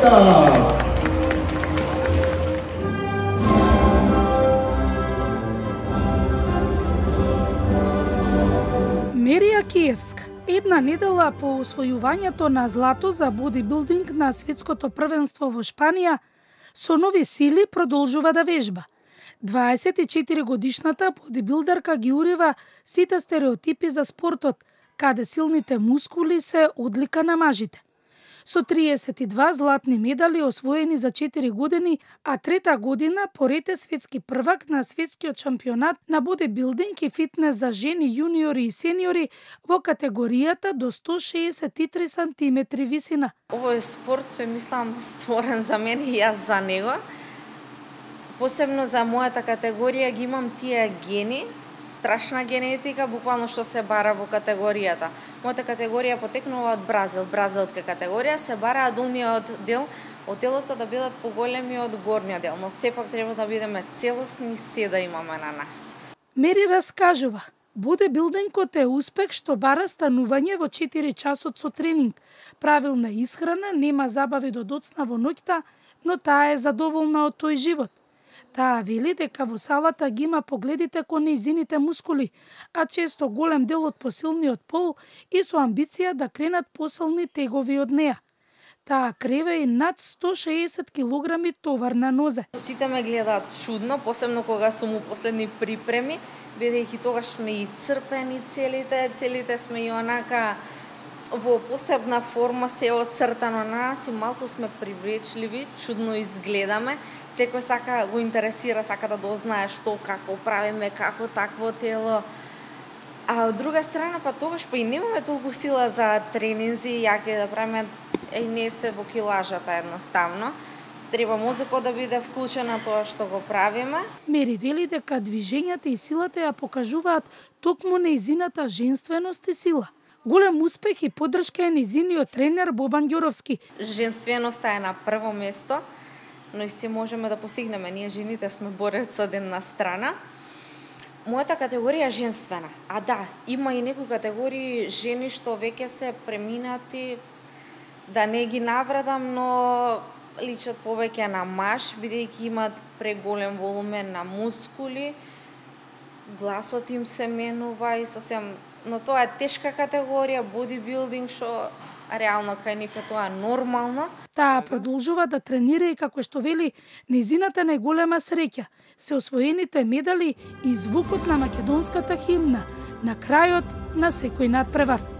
Hrvatska! Мерија Киевска, една недела по освојувањето на злато за бодибилдинг на светското првенство во Шпанија, со нови сили продолжува да вежба. 24-годишната бодибилдерка ги урива сите стереотипи за спортот, каде силните мускули се одлика на мажите. Со 32 златни медали освоени за 4 години, а трета година поред е светски првак на светскиот шампионат на бодибилдинг и фитнес за жени, јуниори и сениори во категоријата до 163 сантиметри висина. Овој спорт мислам створен за мене и јас за него. Посебно за мојата категорија ги имам тие гени, страшна генетика, буквално што се бара во категоријата. Мојата категорија потекнува од Бразил, бразилска категорија, се бара долниот дел од телото да бидат поголеми од горниот дел, но сепак треба да бидеме целосни и се да имаме на нас. Мери раскажува, бодибилдингот е успех што бара станување во 4 часот со тренинг, правилна исхрана, нема забави до доцна во ноќта, но таа е задоволна од тој живот. Таа вели дека во салата ги има погледите кон нејзините мускули, а често голем дел од посилниот пол и со амбиција да кренат посилни тегови од неа. Таа креве и над 160 килограми товар на нозе. Сите ме гледаат чудно, посебно кога сум у последни припреми, бидејќи тогаш сме и црпени целите сме и онака во посебна форма, се оцртано на нас и малку сме привлечливи, чудно изгледаме. Секој сака го интересира, сака да дознае што, како правиме, како такво тело. А од друга страна, па тогаш па и немаме толку сила за тренинзи, јаки да правиме, не се во килажата едноставно. Треба мозокот да биде вклучен на тоа што го правиме. Мери вели дека движењата и силата ја покажуваат токму нејзината женственост и сила. Голем успех и поддршка е нејзиниот тренер Бобан Ѓуровски. Женственоста е на прво место, но и се можеме да постигнеме. Ние жените сме борец од една страна. Мојата категорија е женствена. А да, има и некои категории жени што веќе се преминати, да не ги навредам, но личат повеќе на маж, бидејќи имат преголем волумен на мускули, гласот им се менува и сосем. Но тоа е тешка категорија, бодибилдинг, што реално кај нив е тоа нормално. Таа продолжува да тренира и како што вели, нејзината најголема среќа се освоените медали и звукот на македонската химна на крајот на секој надпревар.